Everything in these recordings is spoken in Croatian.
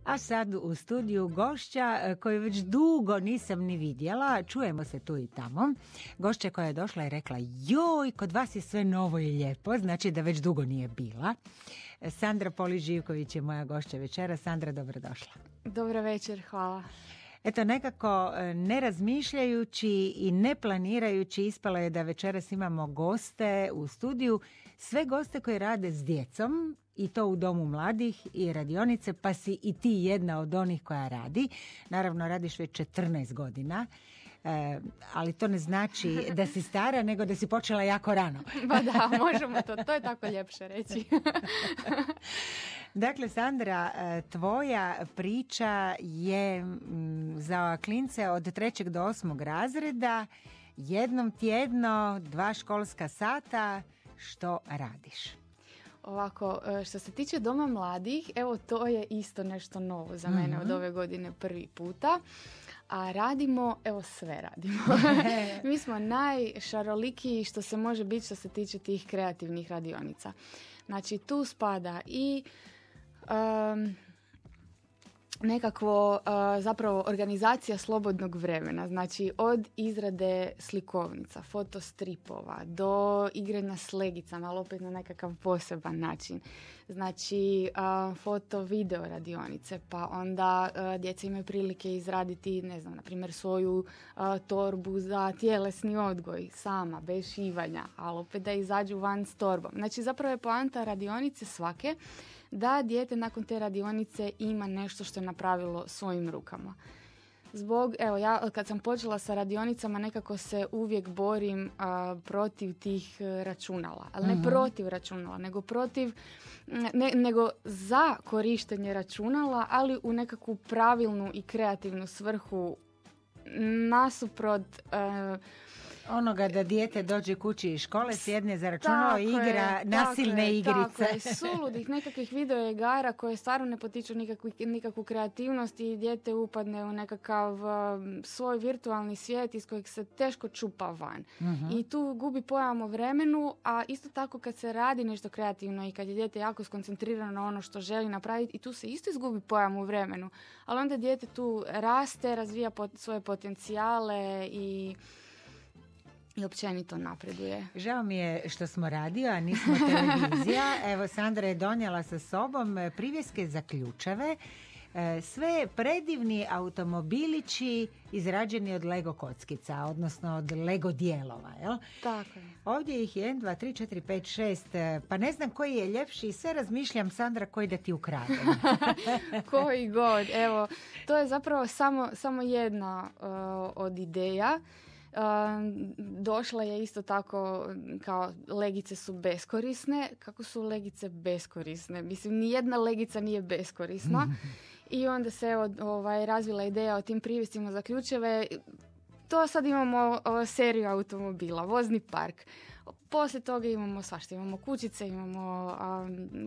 A sad u studiju gošća koju već dugo nisam ni vidjela, čujemo se tu i tamo. Gošća koja je došla i rekla, joj, kod vas je sve novo i lijepo, znači da već dugo nije bila. Sandra Polić-Živković je moja gošća večera. Sandra, dobrodošla. Dobro večer, hvala. Eto, nekako ne razmišljajući i ne planirajući ispalo je da večeras imamo goste u studiju, sve goste koji rade s djecom i to u Domu mladih i radionice, pa si i ti jedna od onih koja radi. Naravno, radiš već 14 godina, ali to ne znači da si stara, nego da si počela jako rano. Pa da, možemo to je tako ljepše reći. Dakle, Sandra, tvoja priča je za klince od 3. do 8. razreda, jednom tjedno, 2 školska sata. Što radiš? Ovako, što se tiče Doma mladih, evo to je isto nešto novo za mene od ove godine prvi puta. A radimo, evo sve radimo. Mi smo najšarolikiji što se može biti što se tiče tih kreativnih radionica. Znači, tu spada i nekakvo zapravo organizacija slobodnog vremena, znači od izrade slikovnica, fotostripova do igranja s legicama, ali opet na nekakav poseban način. Znači foto video radionice, pa onda djeca imaju prilike izraditi, ne znam, na primjer svoju torbu za tjelesni odgoj sama, bez šivanja, ali opet da izađu van s torbom. Znači zapravo je poanta radionice svake da dijete nakon te radionice ima nešto što je napravilo svojim rukama. Evo, ja kad sam počela sa radionicama nekako se uvijek borim protiv tih računala, ali ne protiv računala, nego nego za korištenje računala, ali u nekakvu pravilnu i kreativnu svrhu nasuprot onoga da dijete dođe kući iz škole, sjedne za računalo i igra nasilne igrice. Tako je, suludih nekakvih video igara koje stvarno ne potiču nikakvu kreativnost i dijete upadne u nekakav svoj virtualni svijet iz kojeg se teško čupa van. I tu gubi pojam o vremenu, a isto tako kad se radi nešto kreativno i kad je dijete jako skoncentrirano na ono što želi napraviti, i tu se isto izgubi pojam u vremenu. Ali onda dijete tu raste, razvija svoje potencijale i općenito napreduje. Žao mi je što smo radio, a nismo televizija. Evo, Sandra je donijela sa sobom privjeske za ključeve. Sve predivni automobilići izrađeni od Lego kockica, odnosno od Lego dijelova. Jel? Tako je. Ovdje ih je 1, 2, 3, 4, 5, 6, pa ne znam koji je ljepši i sve razmišljam, Sandra, koji da ti ukradem. Koji god. Evo, to je zapravo samo jedna od ideja. Došla je isto tako kao legice su beskorisne. Kako su legice beskorisne? Mislim, nijedna legica nije beskorisna. I onda se razvila ideja o tim privjescima za ključeve. To sad imamo seriju automobila, vozni park. Poslije toga imamo svašta, imamo kućice, imamo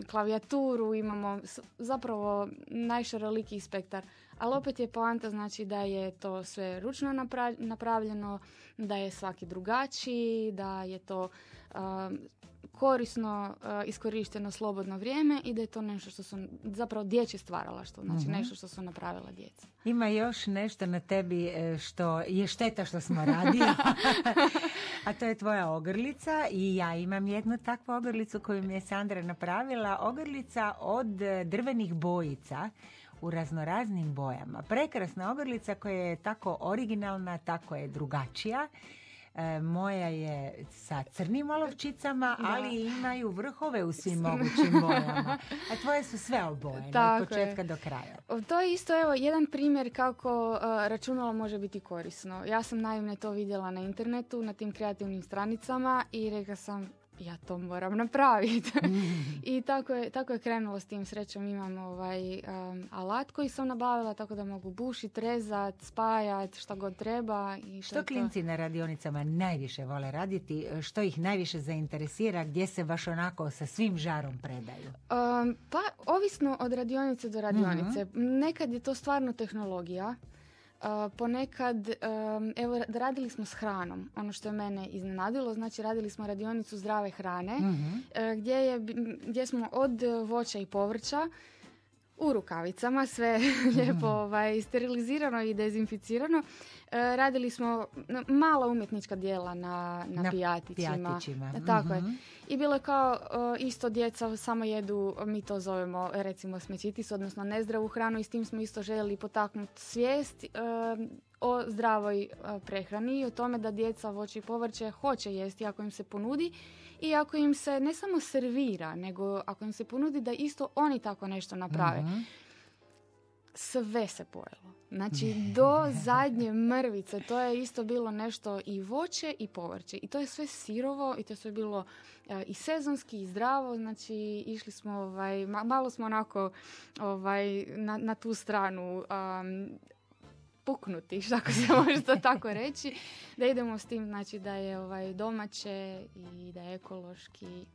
klavijaturu, imamo zapravo najšarolikiji spektar. Ali opet je poanta, znači da je to sve ručno napravljeno, da je svaki drugačiji, da je to korisno iskorišteno slobodno vrijeme i da je to nešto što su zapravo dječje stvaralaštvo, znači nešto što su napravila djeca. Ima još nešto na tebi što je šteta što smo radili, a to je tvoja ogrlica i ja imam jednu takvu ogrlicu koju mi je Sandra napravila, ogrlica od drvenih bojica u raznoraznim bojama. Prekrasna ogrlica koja je tako originalna, tako je drugačija. Moja je sa crnim olovčicama, ali imaju vrhove u svim mogućim bojama. A tvoje su sve obojene, od početka do kraja. To je isto jedan primjer kako računalo može biti korisno. Ja sam naime to vidjela na internetu, na tim kreativnim stranicama i rekla sam, ja to moram napraviti. I tako je krenulo s tim. Srećom imam alat koji sam nabavila, tako da mogu bušiti, rezati, spajati, što god treba. I što klinci na radionicama najviše vole raditi? Što ih najviše zainteresira? Gdje se baš onako sa svim žarom predaju? Pa, ovisno od radionice do radionice. Nekad je to stvarno tehnologija. Ponekad, evo, radili smo s hranom, ono što je mene iznenadilo, znači radili smo radionicu zdrave hrane, gdje smo od voća i povrća u rukavicama, sve lijepo sterilizirano i dezinficirano. Radili smo mala umjetnička djela na pijatićima. Tako je. I bilo je kao isto djeca samo jedu, mi to zovemo recimo smećitis, odnosno nezdravu hranu, i s tim smo isto željeli potaknuti svijest o zdravoj prehrani i o tome da djeca voće i povrće hoće jesti ako im se ponudi, i ako im se ne samo servira, nego ako im se ponudi da isto oni tako nešto naprave. Sve se pojelo. Znači, do zadnje mrvice to je isto bilo nešto i voće i povrće. I to je sve sirovo i to je sve bilo i sezonski i zdravo. Znači, išli smo, malo smo onako na tu stranu puknuti, ako se može to tako reći, da idemo s tim, znači da je domaće i da je ekološki.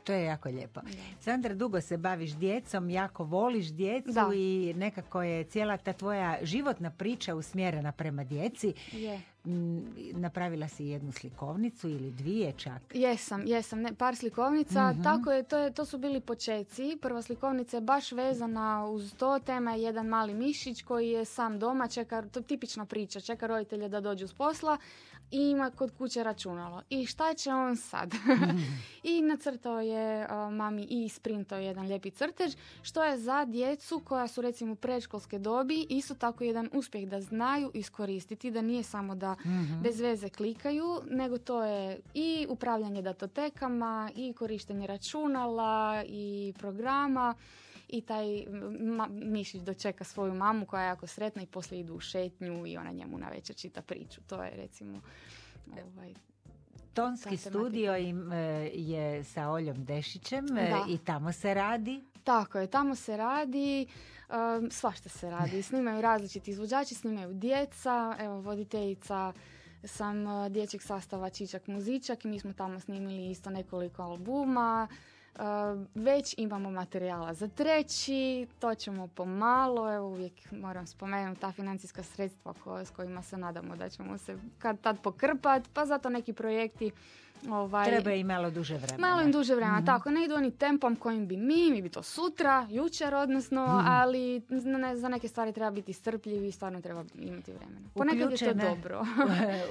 To je jako lijepo. Sandra, dugo se baviš djecom, jako voliš djecu i nekako je cijela ta tvoja životna priča usmjerena prema djeci. Napravila si jednu slikovnicu ili dvije čak? Jesam, par slikovnica. Tako je, to su bili počeci. Prva slikovnica je baš vezana uz to. Tema je jedan mali mišić koji je sam doma, to je tipična priča, čeka roditelje da dođu s posla i ima kod kuće računalo. I šta će on sad? I nacrtao je mami i isprintao jedan lijepi crtež, što je za djecu koja su recimo u predškolske dobi isto tako jedan uspjeh da znaju iskoristiti, da nije samo da bez veze klikaju, nego to je i upravljanje datotekama, i korištenje računala, i programa, i taj mišić dočeka svoju mamu koja je jako sretna i poslije idu u šetnju i ona njemu navečer čita priču. To je recimo Tonski studio je sa Oljom Dešićem i tamo se radi. Tako je, tamo se radi, svašta se radi. Snimaju različiti izvođači, snimaju djeca, evo voditeljica sam dječjeg sastava Čičak Muzičak i mi smo tamo snimili isto nekoliko albuma. Već imamo materijala za treći, to ćemo pomalo, evo uvijek moram spomenuti ta financijska sredstva s kojima se nadamo da ćemo se kad tad pokrpati, pa zato neki projekti treba i malo duže vremena. Malo im duže vremena, tako, ne idu oni tempom kojim bi mi bi to sutra, jučer odnosno, ali za neke stvari treba biti strpljivi i stvarno treba imati vremena. Ponekad je to dobro.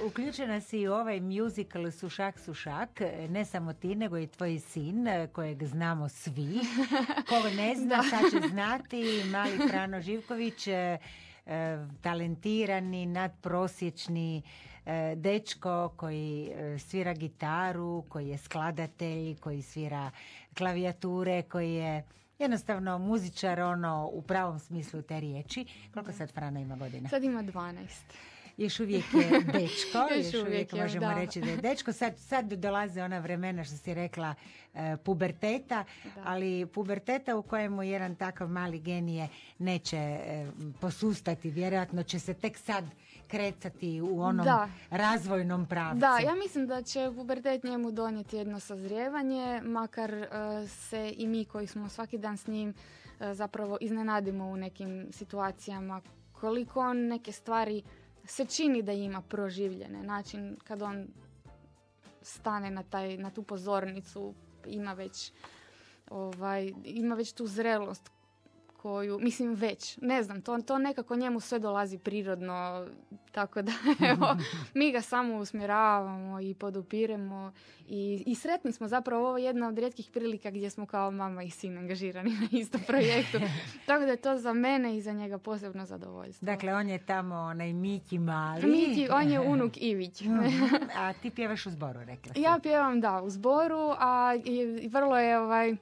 Uključena si u ovaj musical Sušak, Sušak, ne samo ti, nego i tvoj sin, kojeg znamo svi. Ko ne zna, sad će znati, mali Frano Živković, talentirani, nadprosječni dečko koji svira gitaru, koji je skladatelj, koji svira klavijature, koji je jednostavno muzičar u pravom smislu te riječi. Koliko sad Frana ima godina? Sad ima 12. Još uvijek je dečko, još uvijek možemo reći da je dečko. Sad dolaze ona vremena, što si rekla, puberteta, ali puberteta u kojemu jedan takav mali genije neće posustati. Vjerojatno će se tek sad kretati u onom razvojnom pravcu. Da, ja mislim da će pubertet njemu donijeti jedno sazrijevanje, makar se i mi koji smo svaki dan s njim zapravo iznenadimo u nekim situacijama, koliko on neke stvari se čini da ima proživljene. Način kad on stane na tu pozornicu, ima već tu zrelost koju, mislim već, ne znam, to nekako njemu sve dolazi prirodno, tako da evo, mi ga samo usmjeravamo i podupiremo i sretni smo, zapravo ovo je jedna od rijetkih prilika gdje smo kao mama i sin angažirani na istom projektu, tako da je to za mene i za njega posebno zadovoljstvo. Dakle, on je tamo onaj Miki mali. On je unuk Ivić. A ti pjevaš u zboru, rekla si? Ja pjevam, u zboru, a vrlo je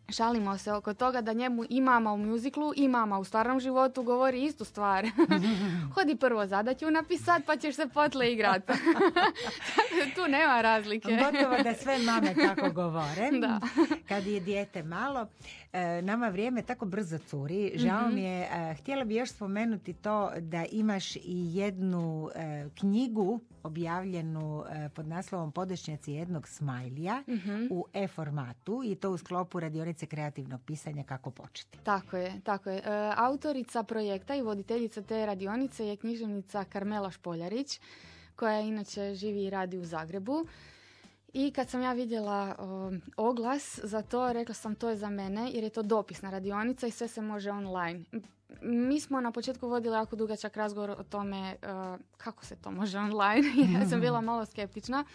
šalimo se oko toga da njemu i mama u muziklu i mama u stvarnom životu govori istu stvar. Hodi prvo zadaću napisat, pa ćeš se potle igrat. Tu nema razlike. Gotovo da sve mame tako govore. Da. Kad je dijete malo, nama vrijeme tako brzo curi. Žao mi je, htjela bi još spomenuti to da imaš i jednu knjigu objavljenu pod naslovom Podešnjaci jednog smajlija u e-formatu i to u sklopu radionice kreativnog pisanja Kako početi. Tako je. Autorica projekta i voditeljica te radionice je književnica Karmela Špoljarić, koja inače živi i radi u Zagrebu. I kad sam ja vidjela oglas za to, rekla sam to je za mene, jer je to dopisna radionica i sve se može online. Mi smo na početku vodili jako dugačak razgovor o tome kako se to može online. Ja sam bila malo skeptična.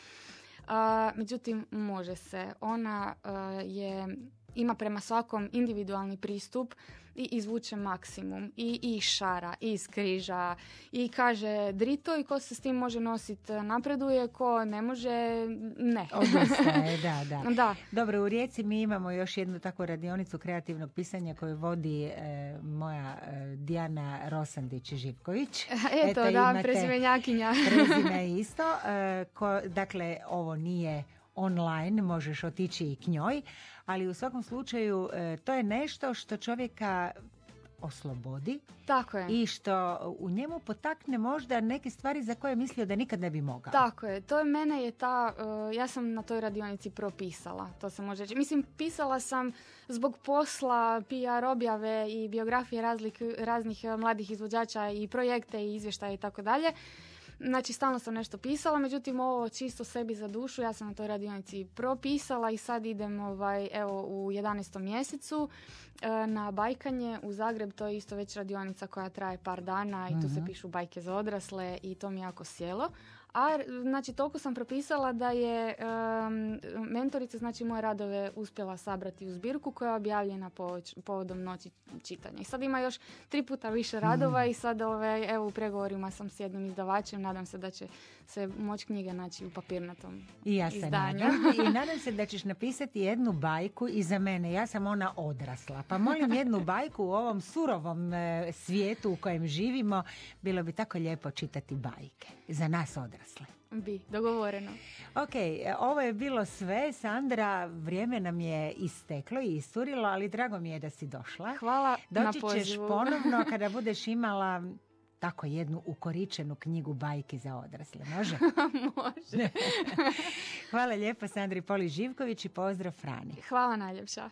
Međutim, može se. Ona ima prema svakom individualni pristup i izvuče maksimum. I šara, i skriža, i kaže drito i ko se s tim može nositi napreduje, ko ne može, ne. Odustaje, da. Da. Dobro, u Rijeci mi imamo još jednu takvu radionicu kreativnog pisanja koju vodi moja Dijana Rosandić-Živković. Eto, da, prezimenjakinja. Prezime isto. Dakle, ovo nije online, možeš otići i k njoj, ali u svakom slučaju to je nešto što čovjeka oslobodi. Tako je. I što u njemu potakne možda neke stvari za koje je mislio da nikad ne bi mogao. Tako je. To je mene je ja sam na toj radionici propisala, to se može reći. Mislim, pisala sam zbog posla, PR objave i biografije raznih mladih izvođača i projekte i izvještaje i tako dalje. Znači, stalno sam nešto pisala, međutim, ovo čisto sebi za dušu, ja sam na toj radionici propisala i sad idem u 11. mjesecu na bajkanje u Zagreb. To je isto već radionica koja traje par dana i tu se pišu bajke za odrasle i to mi jako sjelo. A znači toliko sam propisala da je mentorica znači moje radove uspjela sabrati u zbirku koja je objavljena povodom noći čitanja. I sad ima još 3 puta više radova i sad evo u pregovorima sam s jednim izdavačem, nadam se da će se moći knjiga naći u papirnatom izdanju. I nadam se da ćeš napisati jednu bajku i za mene. Ja sam ona odrasla. Pa molim jednu bajku u ovom surovom svijetu u kojem živimo. Bilo bi tako lijepo čitati bajke. Za nas odrasle. Bi, dogovoreno. Ok, ovo je bilo sve. Sandra, vrijeme nam je isteklo i isturilo, ali drago mi je da si došla. Hvala na pozivu. Doći ćeš ponovno kada budeš imala tako jednu ukoričenu knjigu bajke za odrasle. Može? Može. Hvala lijepo Sandri Polić-Živković i pozdrav Frani. Hvala najljepša.